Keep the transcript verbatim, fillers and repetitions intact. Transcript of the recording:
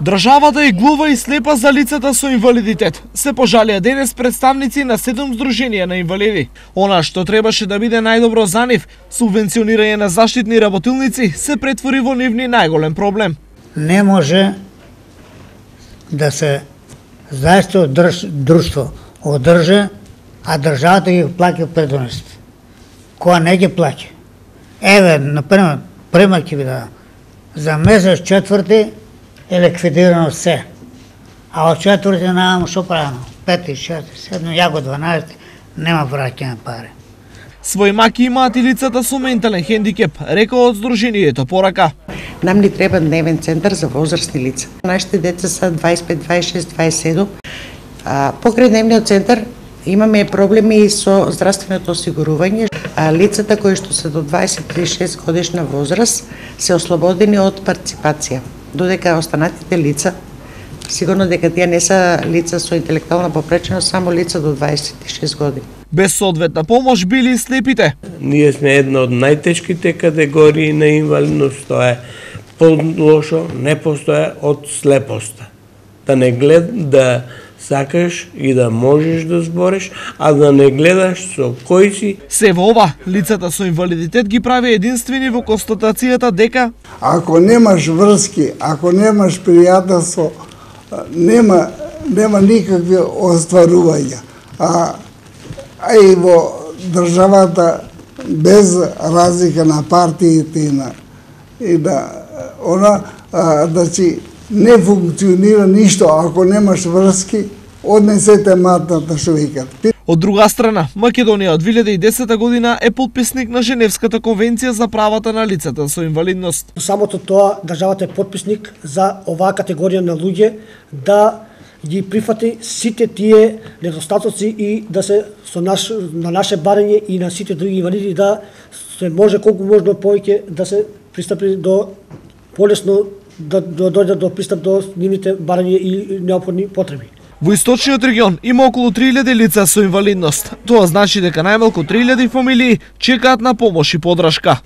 Државата е глува и слепа за лицата со инвалидитет. Се пожалија денес представници на седум здруженија на инвалиди. Она што требаше да биде најдобро за нив, субвенционирање на заштитни работилници, се претвори во нивни најголем проблем. Не може да се заедно држ, друштво одржа, а државата ги плаќа предоности. Која не ги плаќа. Еве, например, пример ќе ви дадам. За месец четврти е ликвидирано се. А од четврти немам што правено. Пети, шести, седми, ја го дванаесети, нема враќање пари. Свој маки имаат и лицата со ментален хендикеп, рекол од здруженијето порака. Нам ни треба дневен центар за возрастни лица. Нашите деца се дваесет и пет, дваесет и шест, дваесет и седум. А, покрај дневниот центар имаме проблеми со здравственото осигурување. А лицата кои што се до дваесет и шест годишна возраст се ослободени од партиципација. Додека останатите лица, сигурно дека тие не се лица со интелектуална попреченост, само лица до дваесет и шест години. Без соодветна помош били и слепите. Ние сме една од најтешките категории на инвалидност, тоа е полошо, не постоја од слепоста. Да не глед, да сакаш и да можеш да збориш, а да не гледаш со кој си. Се во ова, лицата со инвалидитет ги прави единствени во констатацијата дека ако немаш врски, ако немаш пријателство, нема нема никакви остварувања. А, а и во државата без разлика на партиите и на и на она а, да си не функционира ништо ако немаш врски, однесете матната што викат. Од друга страна, Македонија од две илјади и десета година е потписник на Женевската конвенција за правата на лицата со инвалидност. Самото тоа, државата е потписник за оваа категорија на луѓе да ги прифати сите тие недостатоци и да се со наш, на наше барање и на сите други инвалиди да се може колку можно повеќе да се пристапи до полесно да дојдат до пристап до нивните барања и неопходни потреби. Во источниот регион има околу три илјади лица со инвалидност. Тоа значи дека најмалку три илјади фамилии чекаат на помош и поддршка.